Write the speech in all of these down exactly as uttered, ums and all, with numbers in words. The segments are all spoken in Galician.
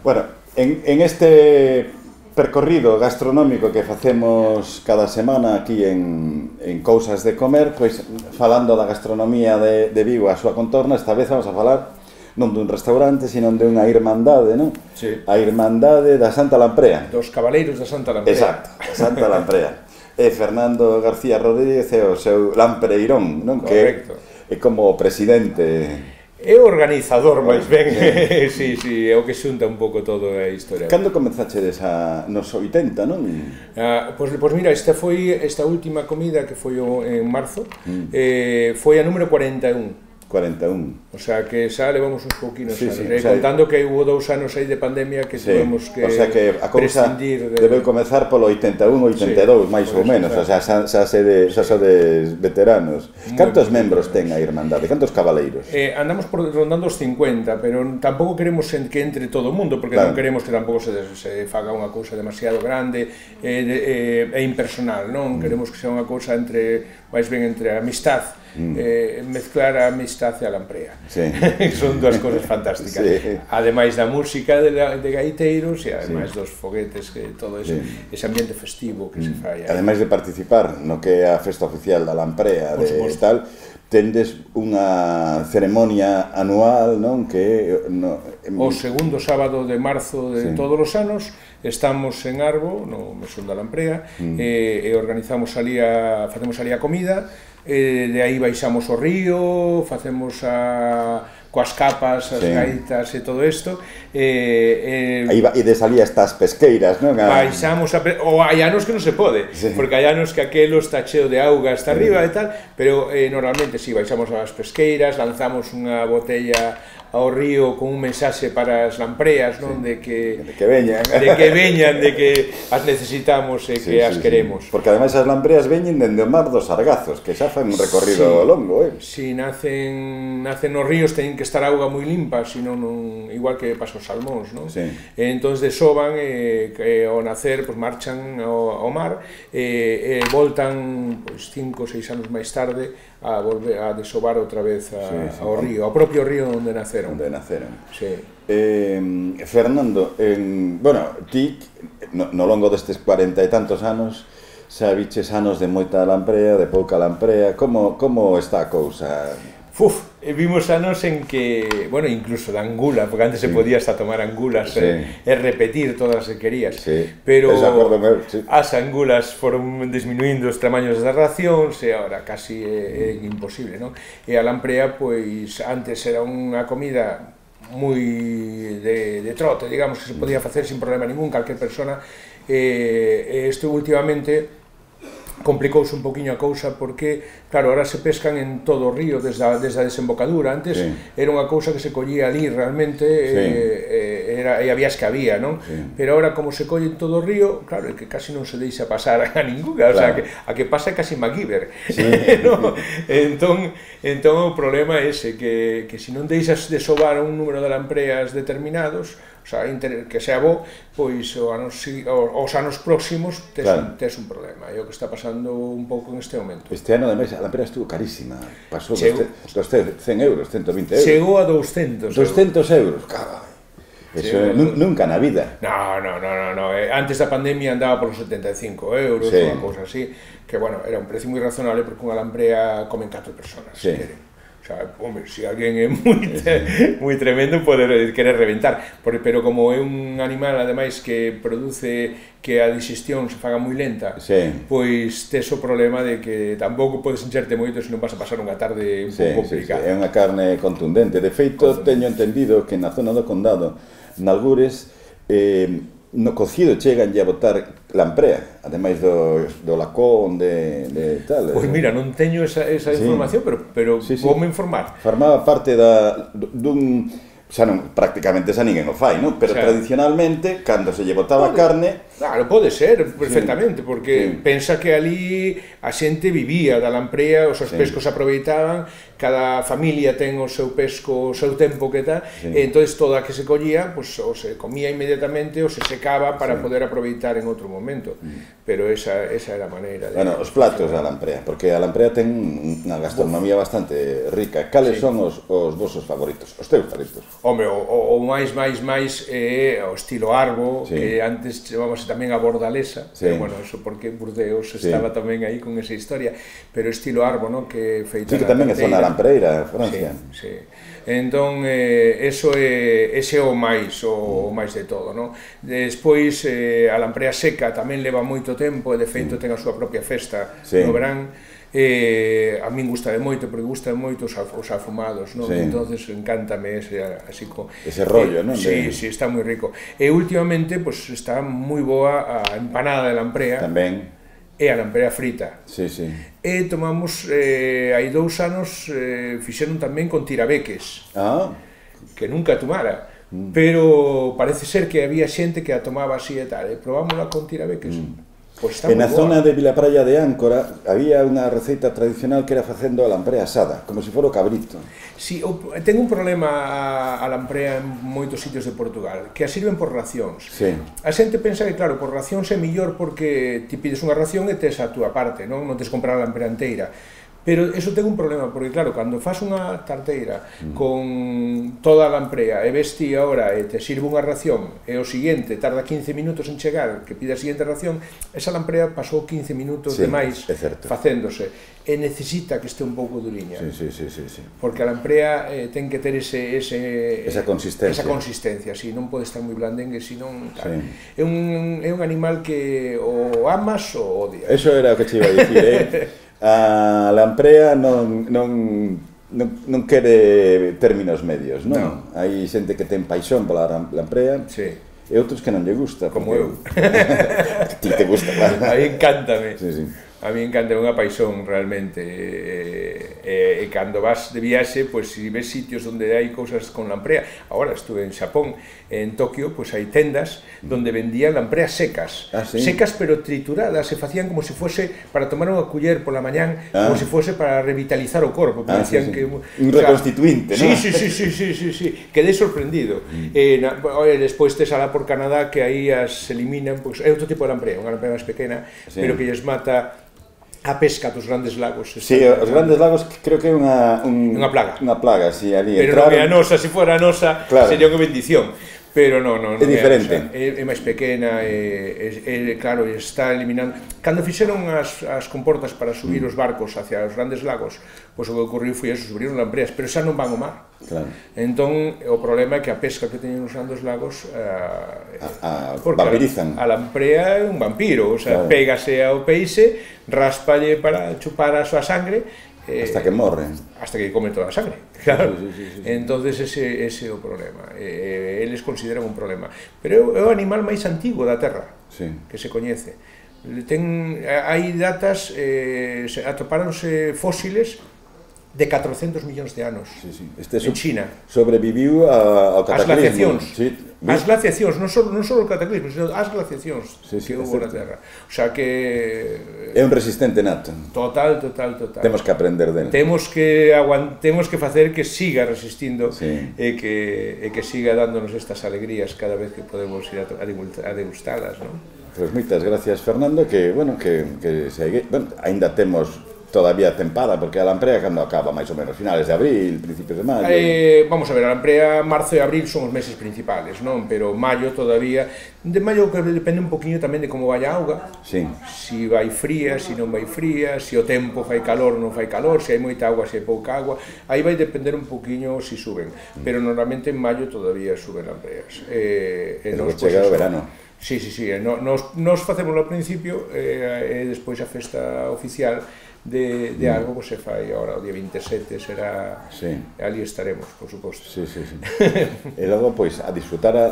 Bueno, en, en este percorrido gastronómico que facemos cada semana aquí en, en Cousas de Comer, pois falando da gastronomía de, de Vigo a súa contorna, esta vez vamos a falar non dun restaurante, sino de unha irmandade, non? Sí. A Irmandade da Santa Lamprea. Dos cabaleiros da Santa Lamprea. Exacto, da Santa Lamprea. E Fernando García Rodríguez é o seu lampreirón, non? Correcto. Que é como o presidente... É o organizador, máis ben. Sí, sí, é o que xunta un pouco todo a historia. Cando comenzachedes a nos oitenta, non? Ah, pois, pois mira, esta foi esta última comida que foi o, en marzo, mm. eh, foi a número cuarenta e un. cuarenta e un. O sea, que xa levamos uns pouquinos sí, anos, sí, eh, o sea, contando que hubo dous anos aí de pandemia que sí, tuvemos que, o sea que a cousa prescindir de... debeu comezar polo oitenta e un, oitenta e dous, sí, máis ou menos, o sea, xa, xa se de, xa so de veteranos. Muy Cantos muy membros ten a Irmandade? Cantos cabaleiros? Eh, andamos por rondando os cincuenta, pero tampouco queremos que entre todo o mundo, porque claro, non queremos que tampouco se, se faga unha cousa demasiado grande e eh, eh, impersonal, non? Mm. Queremos que sea unha cousa entre, máis ben entre a amistad, mm. eh, mezclar a amistad e a lamprea. Sí. Son dúas cousas fantásticas. Sí. Ademais da música de, de gaiteiros e ademais sí. dos foguetes, que todo eso, sí. ese ambiente festivo que mm. se fai. Ademais de participar no que é a festa oficial da lamprea de tal, tendes unha ceremonia anual, non? Que no, o segundo sábado de marzo de sí. todos os anos estamos en Arbo, no Mesón da Lamprea, mm. e, e organizamos ali a, facemos ali a comida, e de aí baixamos o río, facemos a coas capas, as sí. gaitas e todo isto, e, e aí ides ali estas pesqueiras, non? A... baixamos a pe... ou hai anos que non se pode, sí. porque hai anos que aquelo está cheo de auga hasta sí. arriba e tal, pero eh, normalmente si sí, baixamos as pesqueiras, lanzamos unha botella ao río con un mensaxe para as lampreas, non? Sí. De que de que veñan, de que veñan, de que as necesitamos e sí, que as sí, queremos. Sí. Porque ademais as lampreas veñen dende o mar dos Sargazos, que xa fan un recorrido sí. longo, eh. Si nacen nacen nos ríos teñen que estar a auga moi limpa, senón non, igual que pasa os salmóns, non? Sí. E entón desoban e que ao nacer pois marchan ao, ao mar e, e voltan pois cinco ou seis anos máis tarde a volver a desovar outra vez a, sí, sí. ao río, ao propio río onde naceron. Onde naceron. Sí. Eh, Fernando, en, bueno, ti no, no longo destes cuarenta e tantos anos xa viches anos de moita lamprea, de pouca lamprea, como, como está a cousa? Uf, vimos anos en que, bueno, incluso de angula, porque antes sí. se podía hasta tomar angulas sí. e, e repetir todas as que querías, sí. pero meu, sí. as angulas foron disminuindo os tamaños das racións e agora casi é, é imposible, non? E a lamprea, pois, antes era unha comida moi de, de trote, digamos, que se podía facer sin problema ningún, calquer persona, e, e isto últimamente complicouse un poquinho a cousa porque, claro, ahora se pescan en todo o río desde a, desde a desembocadura. Antes sí. era unha cousa que se collía ali realmente sí. e, era, e había as que había, non? Sí. Pero ahora como se colle en todo o río, claro, é que casi non se deixa pasar a ninguna, claro. O sea, que, a que pasa é casi MacGyver, sí. no? Entón, entón o problema é ese, que, que se non deixas de sobar un número de lampreas determinados, o sea, que sea bo, pois o anos, os anos próximos tes, claro. un, tes un problema, é o que está pasando un pouco en este momento. Este ano, ademais, a lamprea estuvo carísima, pasou dos cen euros, ciento vinte euros. Chegou a douscentos. douscentos euros, carai. Eso é, nunca na vida. No, no, no, no, no. Antes da pandemia andaba por os setenta e cinco euros, sí. Unha cousa así, que, bueno, era un precio moi razonable porque unha lamprea comen catro personas, sí. Se queren. O sea, hombre, se alguén é moi, moi tremendo pode querer reventar, pero como é un animal ademais que produce que a digestión se faga moi lenta, sí. Pois tes o problema de que tampouco podes encherte moito se non vas a pasar unha tarde un sí, pouco complicada. Sí, sí. É unha carne contundente. De feito, teño entendido que na zona do Condado, nalgures, eh, no cocido chegan a botar lamprea, ademais do, do lacón, de, de tal. Pois mira, non teño esa, esa sí. información, pero, pero sí, sí. vou me informar. Formaba parte da, dun... xa non, prácticamente xa ninguén o fai, non? Pero xa. Tradicionalmente, cando se lle botaba Pode. carne, Claro, pode ser, perfectamente, porque pensa que ali a xente vivía da lamprea, os seus pescos aproveitaban, cada familia ten o seu pesco, o seu tempo que tal, e entón toda a que se collía, pues, o se comía inmediatamente ou se secaba para poder aproveitar en outro momento, pero esa, esa era a maneira de... Bueno, os platos da lamprea, porque a lamprea ten unha gastronomía bastante rica. Cales son os, os vosos favoritos, os teus favoritos? Hombre, o, o máis, máis, máis é o estilo Arbo, que antes chamamos tamén a bordalesa, sí. Pero, bueno, eso porque Burdeos sí. Estaba tamén aí con esa historia, pero estilo Arbo, ¿no? Que feita sí, que tamén é zona lampreira, Francia. Sí, sí. Entón, eh, eso é, ese é o máis, o, o máis de todo, ¿no? Despois, eh, a lamprea seca tamén leva moito tempo, e de feito ten a súa propia festa sí. No verán. Eh, a min gusta de moito, porque gusta de moito os, os afumados, non? Sí. Entonces encántame ese, así co, ese rollo, eh, non? Sí, de... sí, está moi rico. E últimamente, pues, está moi boa a empanada de lamprea. Tamén. E a lamprea frita. Sí, sí. E tomamos, eh, hai dous anos, eh, fixeron tamén con tirabeques. Ah. Que nunca tomara. Mm. Pero parece ser que había xente que a tomaba así e tal. E probámosla con tirabeques. Mm. Pues en a zona de Vilapraia de Áncora había unha receita tradicional que era facendo a lamprea asada, como se fora o cabrito. Si, sí, ten un problema a, a lamprea en moitos sitios de Portugal, que a sirven por racións. Sí. A xente pensa que, claro, por racións é mellor porque ti pides unha ración e tes a túa parte, non, non tes comprar a lamprea inteira. Pero eso ten un problema, porque claro, cando faz unha tarteira mm. con toda a lamprea e ves ti agora e te sirve unha ración e o seguinte tarda quince minutos en chegar, que pide a seguinte ración, esa lamprea pasou quince minutos sí, de máis facéndose e necesita que este un pouco duriña. Sí, sí, sí, sí, sí. Porque a lamprea eh, ten que ter ese, ese, esa consistencia. Esa consistencia, si, non pode estar moi blandengue, senón tal. Sí. É, un, é un animal que o amas ou odias. Eso era o que te iba a dicir, eh? A lamprea non, non, non, non quere términos medios, non? No. Hai xente que ten paixón pola lamprea sí. E outros que non lle gusta. Como eu. A ti te gusta, claro. A mí encántame. Sí, sí. A mí encanta, é unha paixón realmente, e, e, e cando vas de viaxe, pois si ves sitios onde hai cousas con lamprea, agora estuve en Xapón, en Tokio, pois hai tendas onde vendían lampreas secas, ah, ¿sí? secas pero trituradas, se facían como se fose para tomar unha culler pola mañán, ah. como se fose para revitalizar o corpo, ah, decían sí, sí. que un reconstituinte, sí, ¿no? Sí, sí, sí, sí, sí, sí, quedé sorprendido. Mm. Eh, na, despois tes alá por Canadá que aí as eliminan, pois é outro tipo de lamprea, unha lamprea máis pequena, sí. Pero que lles mata a pesca dos grandes lagos. Sí, os grandes lagos creo que é unha un, unha plaga. Unha plaga, si, sí, ali pero entraron... non é a nosa, se fora a nosa, claro. Sería unha bendición. Pero non, non, é diferente. É, é máis pequena, é, é, é, claro, está eliminando... Cando fixeron as, as comportas para subir mm. os barcos hacia os grandes lagos, pois o que ocorreu foi eso, subiron lampreas, pero xa non van ao mar. Claro. Entón, o problema é que a pesca que teñen os grandes lagos... Eh, a, a, vampirizan. A, a lamprea é un vampiro, o sea, claro. Pégase ao peixe, raspalle para chupar a súa sangre, Eh, hasta que morre. Hasta que come toda a sangre, claro. Sí, sí, sí, sí. Entonces ese, ese é o problema. Eh, eles consideran un problema. Pero é o animal máis antigo da Terra, sí. Que se coñece. Ten, hai datas, eh, atopáronse fósiles de catrocentos millóns de anos, sí, sí. Este en China. Sobreviviu a, ao cataclismo. As glaciacións. Sí. As glaciacións, non só, non só o cataclismo, sino as glaciacións sí, sí, que hubo na Terra. O sea que... É un resistente nato. Total, total, total. Temos que aprender dele. Temos que, aguant... Temos que facer que siga resistindo sí. e, que, e que siga dándonos estas alegrías cada vez que podemos ir a, a degustalas, non? Pois moitas gracias, Fernando, que, bueno, que, que segue... Bueno, ainda temos... todavía tempada, porque a lamprea cando acaba, máis ou menos, finales de abril, principios de maio. Eh, vamos a ver, a lamprea, marzo e abril son os meses principales, non? Pero maio todavía, de maio que depende un poquinho tamén de como vai a auga, sí. Si vai fría, si non vai fría, si o tempo fai calor ou non fai calor, si hai moita auga, si hai pouca agua, aí vai depender un poquinho si suben, pero normalmente en maio todavía suben lampreas. Eh, e nos, chega o verano. Sí, sí, sí, nos, nos facemos ao principio e eh, despois a festa oficial de, de algo que se fai agora o día veinte e sete será sí. Ali estaremos, por suposto. Sí, sí, sí. E logo, pois, a disfrutar a,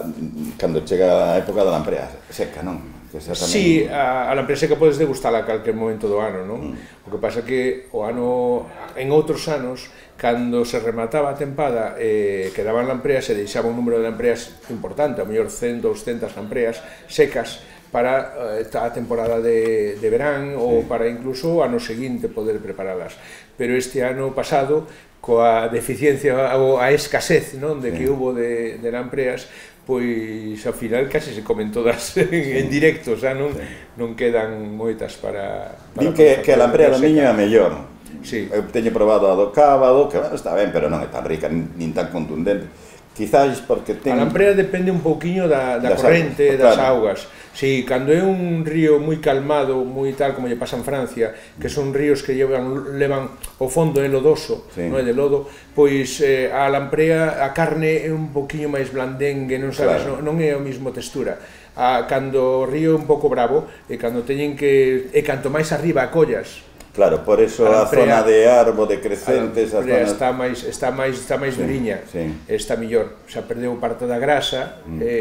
cando chega a época da lamprea seca, non? Que tamén... Sí, a, a lamprea seca podes degustala a calquer momento do ano, non? Mm. O que pasa que o ano, en outros anos, cando se remataba a tempada e eh, quedaban lampreas, se deixaba un número de lampreas importante, a mellor cen, doscientas lampreas secas, para a temporada de, de verán ou para incluso o ano seguinte poder preparalas. Pero este ano pasado, coa deficiencia ou a escasez, non, de que hubo de, de lampreas, pois ao final casi se comen todas en, en directo, xa non, non quedan moitas para... para Din que, que a lamprea do Miño é a mellor. Sí. Eu teño probado a do Cábado, que bueno, está ben, pero non é tan rica, nin tan contundente. Quizás porque ten... A lamprea depende un pouquiño da, da corrente, das augas. Si, cando é un río moi calmado, moi tal, como lle pasa en Francia, que son ríos que llevan, levan o fondo é lodoso, sí. Non é de lodo, pois eh, a lamprea, a carne é un pouquiño máis blandengue, non sabes, claro. non, non é a mesma textura. A, cando o río é un pouco bravo, e cando teñen que... e canto máis arriba a collas, claro, por eso a, a zona de Arbo, de Crecentes, a zona... está máis está máis está máis sí, duriña, sí. Está mellor, xa perdeu parte da grasa mm. e,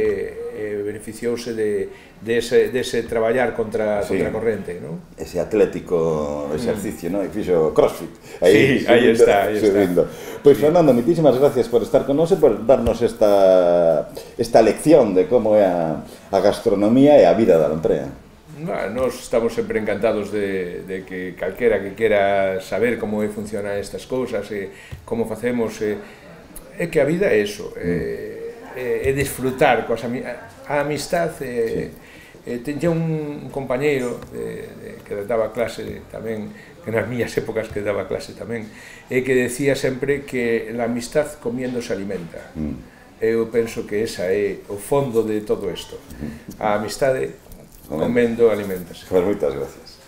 e beneficiouse de de ese de ese traballar contra sí. contra a corrente, ¿no? Ese atlético exercicio, mm. ¿no? E fixo CrossFit. Aí, sí, aí está, aí está. Pois sí. Fernando, muchísimas gracias por estar con nós e por darnos esta esta lección de como é a, a gastronomía e a vida da lamprea. Nos estamos sempre encantados de, de que calquera que quera saber como funciona estas cousas e como facemos e, é que a vida é eso, é, é, é disfrutar coas ami a amistad e, sí. e tenía un compañeiro de, de, que daba clase tamén, que nas miñas épocas que daba clase tamén, e que decía sempre que la amistad comiendo se alimenta. Mm. Eu penso que esa é o fondo de todo isto. A amistade comendo alimentos. Pues moitas gracias.